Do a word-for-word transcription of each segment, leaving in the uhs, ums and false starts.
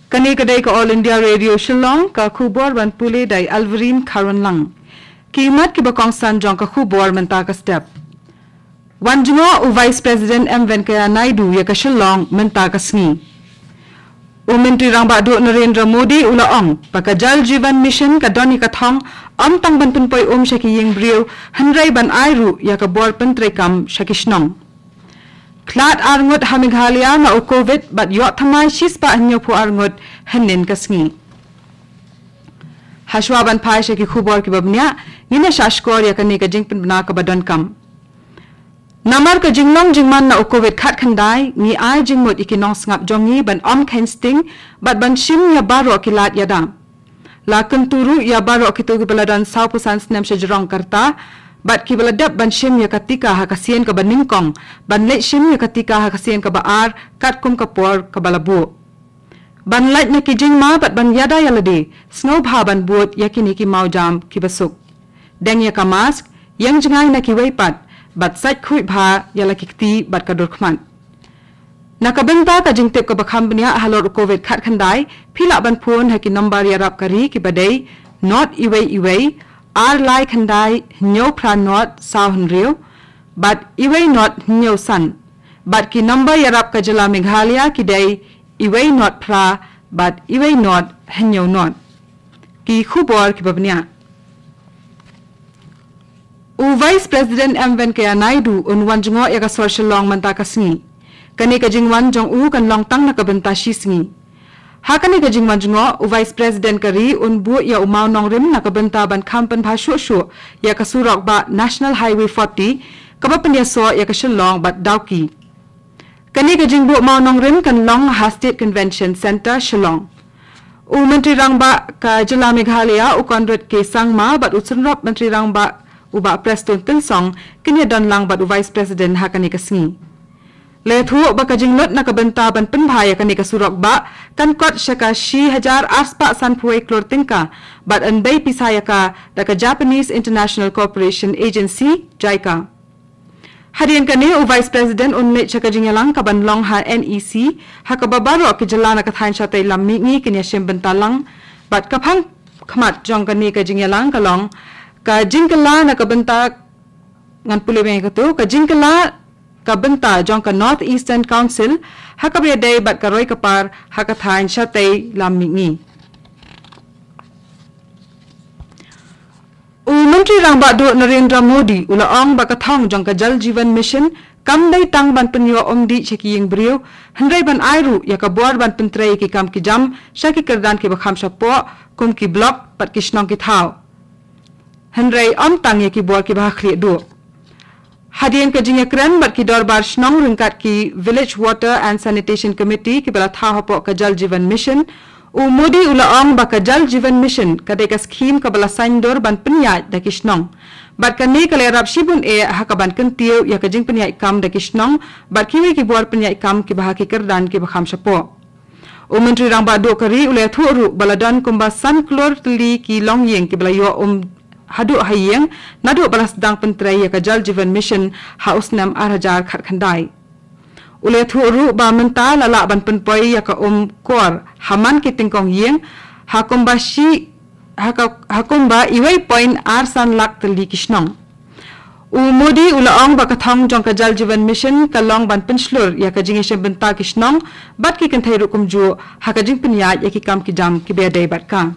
Kane ka dei ka All India Radio Shillong, ka khubor ban pule da i Alverine Kharwanlang. Ki mat kiba kongsan jong ka khubor mynta ka step. Wan jngoh u Vice President M Venkaiah Naidu ïa ka Shillong mynta ka sngi. U Myntri Rangbah Duh Narendra Modi u la ong ba ka Jal Jeevan Mission ka don ïa ka thong ym tang ban pynpoi um sha ki ïing briew, hynrei ban ai ruh ïa ka bor pyntreikam sha ki shnong. Khlad ar ngut ha Meghalaya na u Covid bad ïoh thymmai shispah hynñiewphew ar ngut hynnin ka sngi. Hashwa ban phai sha ki khubor kiba bniah, ngin ïa shah shkor ïa kane ka jingpynbna kaba donkam. Namar ka jinglong jingman na u Covid khatkhyndai, ngi ai jingmut ïa ki nongsngap jong ngi ban ym kheiñ sting bad ban shim ïa baroh ki lad ïada. La kyntu ruh ïa baroh kito kiba la don sawphew san snem shajrong ka rta bad kiba la dep ban shim ïa ka tika ha ka sien kaba nyngkong, ban leit shim ïa ka tika ha ka sien kaba ar katkum ka por kaba la buh. Ban lait na ki jingma bad ban ïada ïa lade, sngewbha ban bud ïa kine ki mawjam kiba suk. Deng ïa ka mask, ïeng jngai na kiwei pat, bad sait khuid bha ïa la ki kti bad ka dur khmat. Na ka bynta ka jingtip kaba kham bniah halor u Covid khatkhyndai, phi lah ban phone ha ki nombar ïarap ka ri kiba dei, not iwei iwei, ar lai khyndai, hynñiew phra not, saw hynriew, bad iwei not hynñiew san. Bad ki nombar ïarap ka jylla Meghalaya ki dei, iwei not phra, bad iwei not hynñiew not. Ki khubor kiba bniah. U Vice President M Venkaiah Naidu un wan jngoh ïa ka sor Shillong mynta ka sngi. Kane ka jingwan jong u kan long tang na ka bynta shi sngi. Ha kane ka jingwan jngoh, u Vice President ka ri un buh ïa u mawnongrim na ka bynta ban kham pynbha shuh shuh ïa ka surok bah National Highway forty, kaba pynïasoh ïa ka Shillong bad Dawki. Kane ka jingbuh mawnongrim kan long ha State Convention Centre Shillong. U Myntri Rangbah ka jylla Meghalaya u Conrad K Sangma bad u Synrop Myntri Rangbah u Bah Prestone Tynsong kin ïa don lang bad u Vice President ha kane ka sngi. La ïathuh ba ka jinglut na ka bynta ban pynbha ïa kane ka surok bah kan kot sha ka shi hajar arspah sanphew wei klur tyngka bad yn bei pisa ïa ka da ka Japanese International Cooperation Agency, JICA. Hadien kane u Vice President un leit sha ka jingïalang kaban long ha NEC, ha kaba baroh ki jylla na ka thaiñ shatei lam mihngi kin ïashim bynta lang. Bad ka phang khmat jong kane ka jingïalang ka long ka jingkylla na ka bynta, ngan pule biang ïa kato, ka jingkylla ka bynta jong ka North Eastern Council ha kaba ïadei bad ka roi ka par ha ka thaiñ shatei lam mihngi. U Myntri Rangbah Duh Narendra Modi u la ong ba ka thong jong ka Jal Jeevan Mission kam dei tang ban pynïoh umdih sha ki ïing briew, hynrei ban ai ruh ïa ka bor ban pyntrei ïa ki kam ki jam sha ki kyrdan kiba kham shapoh, kum ki block bad ki shnong ki thaw. Hynrei ym tang ïa ki bor kiba ha khlieh duh. Hadien ka jingïakren bad ki dorbar shnong ryngkat ki Village Water and Sanitation Committee kiba la thaw hapoh ka Jal Jeevan Mission, u Modi u la ong ba ka Jal Jeevan Mission ka dei ka skhim kaba la saiñdur ban pynïaid da ki shnong. Bad kane ka la ïarap shibun eh ha kaban kyntiew ïa ka jingpynïaid kam da ki shnong bad kiwei ki bor pynïaid kam kiba ha ki kyrdan kiba kham shapoh. U Myntri Rangbah Duh ka ri u la ïathuh ruh ba la don kumba san klur tylli ki longïing kiba la ïoh um haduh ha ïing naduh ba la sdang pyntrei ïa ka Jal Jeevan Mission ha u snem ar hajar khatkhyndai. U la ïathuh ruh ba mynta la lah ban pynpoi ïa ka um kor ha man ki tyngkong ïing ha kumba shi, ha ka, ha kumba iwei point ar san lak tylli ki shnong. U Modi u la ong ba ka thong jong ka Jal Jeevan Mission ka long ban pynshlur ïa ka jingïashim bynta ki shnong bad ki kynthei ruh kumjuh ha ka jingpynïaid ïa ki kam ki jam kiba ïadei bad ka.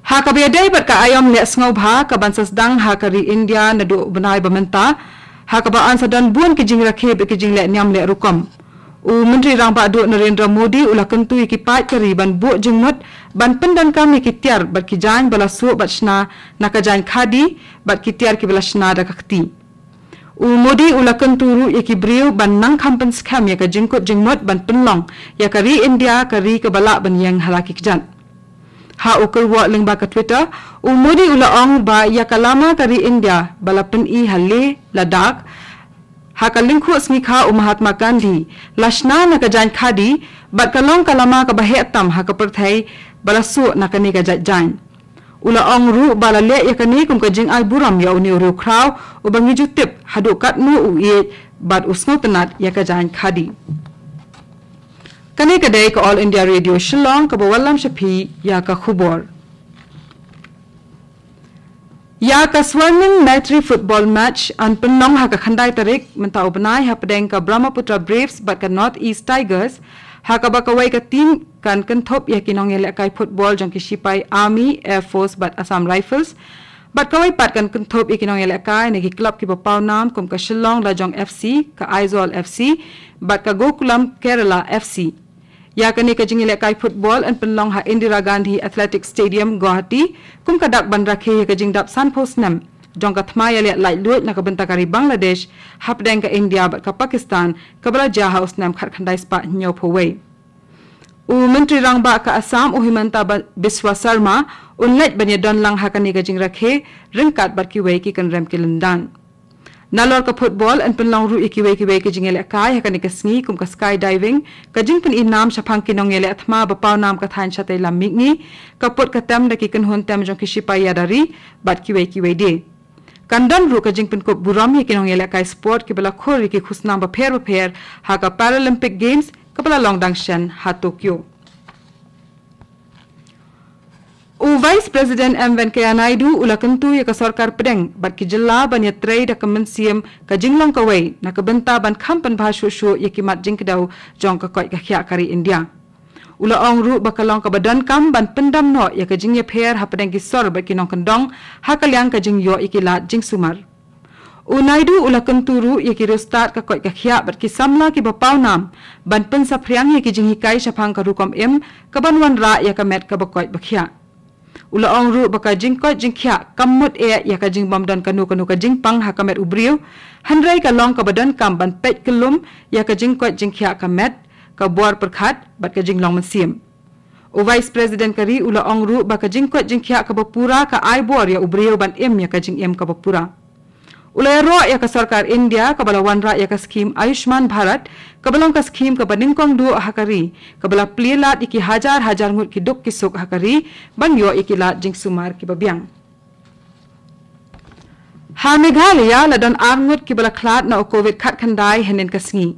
Ha kaba ïadei bad ka aïom leh sngewbha kaban sa sdang ha ka ri India naduh u bnai ba mynta, ha kaba yn sa don bun ki jingrakhe bad ki jingleh niam leh rukom. U Myntri Rangbah Duh Narendra Modi u la kyntu ïa ki paid ka ri ban buh jingmut ban pyndonkam ïa ki tiar bad ki jaiñ ba la suh bad shna na ka jaiñ khadi bad ki tiar kiba la shna da ka kti. U Modi u la kyntu ruh ïa ki briew ban nang kham pynskhem ïa ka jingkut jingmut ban pynlong ïa ka ri India ka ri kaba lah ban ïeng ha la ki kjat. Ha u kyrwoh lyngba ka Twitter, u Modi u la ong ba ïa ka lama ka ri India ba la pyni ha Leh Ladakh ha ka lyngkhuh sngi kha u Mahatma Gandhi la shna na ka jaiñ khadi bad ka long ka lama kaba heh tam ha ka pyrthei ba la suh na kane ka jait jaiñ. U la ong ruh ba la leh ïa kane kum ka jingai burom ïa une u riewkhraw uba ngi ju tip haduh katno u ïeit bad u sngewtynnad ïa ka jaiñ khadi. Kane ka dei ka All India Radio Shillong kaba wallam sha phi ïa ka khubor. Ïa ka Swarnim Maitri football match yn pynlong ha ka khyndai tarik mynta u bnai hapdeng ka Brahmaputra Braves bad ka North East Tigers, ha kaba kawei ka team kan kynthup ïa ki nongïalehkai football jong ki sipai Army, Air Force bad Assam Rifles. Bad kawei pat kan kynthup ïa ki nongïalehkai na ki club kiba paw nam kum ka Shillong Lajong F C, ka Aizawl F C bad ka Gokulam Kerala F C. Ïa kane ka jingïalehkai football yn pynlong ha Indira Gandhi Athletic Stadium, Guwahati, kum ka dak ban rakhe ïa ka jingdap sanphew snem jong ka thma ïaleh laitluid na ka bynta ka ri Bangladesh hapdeng ka India bad ka Pakistan, kaba la jia ha u snem khatkhyndai spah hynñiewphew wei. U Myntri Rangbah ka Assam, u Himanta Ba-, Biswa Sarma, un leit ban ïadon lang ha kane ka jingrakhe ryngkat bad kiwei ki kynrem ki lyndan. Nalor ka football yn pynlong ruh ïa kiwei kiwei ki jingïalehkai ha kane ka sngi kum ka skydiving, ka jingpyni nam shaphang ki nongïaleh thma ba paw nam ka thaiñ shatei lam mihngi, ka put ka tem da ki kynhun tem jong ki sipai ïada ri bad kiwei kiwei de. Kan don ruh ka jingpynkup burom ïa ki nongïalehkai sport kiba la khur ïa ki khusnam bapher bapher ha ka Paralympic Games kaba la long dang shen ha Tokyo. U Vice President M Venkaiah Naidu u la kyntu ïa ka sorkar pdeng bad ki jylla ban ïatrei da ka mynsiem ka jinglong kawei na ka bynta ban kham pynbha shuh shuh ïa ki mat jingkdew jong ka koit ka khiah ka ri India. U la ong ruh ba ka long kaba donkam ban pyndam noh ïa ka jingïapher hapdeng ki sor bad ki nongkyndong ha ka liang ka jingïoh ïa ki lad jingsumar. U Naidu u la kyntu ruh ïa ki riewstad ka koit ka khiah bad ki samla kiba paw nam ban pynsaphriang ïa ki jinghikai shaphang ka rukom im kaban wanrah ïa ka met kaba koit ba khiah. U la ong ruh ba ka jingkoit jingkhiah kam mut eh ïa ka jingbym don kano kano ka jingpang ha ka met u briew, hynrei ka long kaba donkam ban peit kyllum ïa ka jingkoit jingkhiah ka met, ka bor pyrkhat bad ka jinglong mynsiem. U Vice President ka ri u la ong ruh ba ka jingkoit jingkhiah kaba pura ka ai bor ïa u briew ban im ïa ka jingim kaba pura. U la ïaroh ïa ka sorkar India kaba la wanrah ïa ka skhim Ayushman Bharat, kaba long ka skhim kaba nyngkong duh ha ka ri, kaba la plie lad ïa ki hajar hajar ngut ki duk ki suk ha ka ri ban ïoh ïa ki lad jingsumar kiba biang. Ha Meghalaya la don ar ngut kiba la khlad na u Covid khatkhyndai hynnin ka sngi.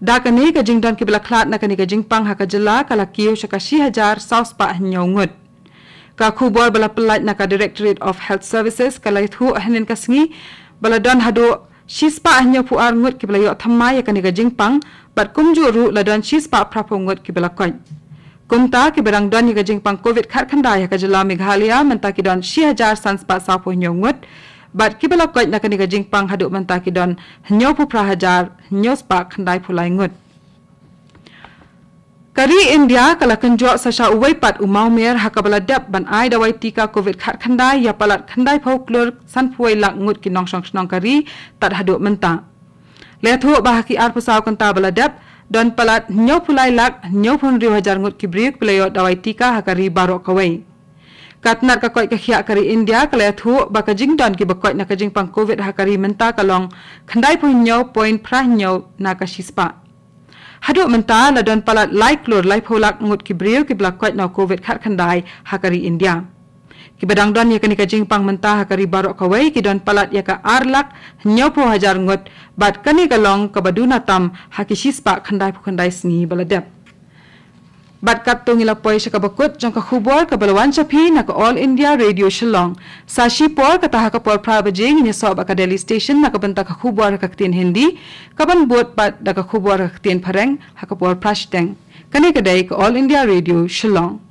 Da kane ka jingdon kiba la khlad na kane ka jingpang ha ka jylla ka la kiew sha ka shi hajar saw spah hynñiew ngut. Ka khubor ba la pyllait na ka Directorate of Health Services ka la ïathuh hynnin ka sngi ba la don haduh shi spah hynñiewphew ar ngut kiba la ïoh thymmai ïa kane ka jingpang, bad kumjuh ruh la don shi spah phraphew ngut kiba la koit. Kumta kiba dang don ïa ka jingpang Covid khatkhyndai ha ka jylla Meghalaya mynta ki don shi hajar san spah sawphew hynñiew ngut, bad kiba la koit na kane ka jingpang haduh mynta ki don hynñiewphew phra hajar hynñiew spah khyndaiphew lai ngut. Ka ri India ka la kynjoh sa sha uwei pat u mawmer ha kaba la dep ban ai dawai tika Covid khatkhyndai ïa palat khyndaiphew klur sanphew wei lak ngut ki nongshong shnong ka ri tad haduh mynta. La ïathuh ba ha ki arphew saw kynta ba la dep, don palat hynñiewphew lai lak hynñiewphew hynriew hajar ngut ki briew kiba la ïoh dawai tika ha ka ri baroh kawei. Ka tnat ka koit ka khiah ka ri India ka la ïathuh ba ka jingdon kiba koit na ka jingpang Covid ha ka ri mynta ka long khyndaiphew hynñiew point phra hynñiew na ka shi spah. Haduh mynta la don palat lai klur laiphew lak ngut ki briew kiba la koit na u Covid khatkhyndai ha ka ri India. Kiba dang don ïa kane ka jingpang mynta ha ka ri baroh kawei ki don palat ïa ka ar lak hynñiewphew hajar ngut, bad kane ka long kaba duna tam ha ki shi spah khyndaiphew khyndai sngi ba la dep. Bad katto ngi la poi sha kaba kut jong ka khubor kaba la wan sha phi na ka All India Radio Shillong. Sa shipor kata ha ka por phra baje ngin ïasoh bad ka Delhi Station na ka bynta ka khubor ha ka ktien Hindi, kaban bud pat da ka khubor ha ka ktien Phareng ha ka por phra shiteng. Kane ka dei ka All India Radio Shillong.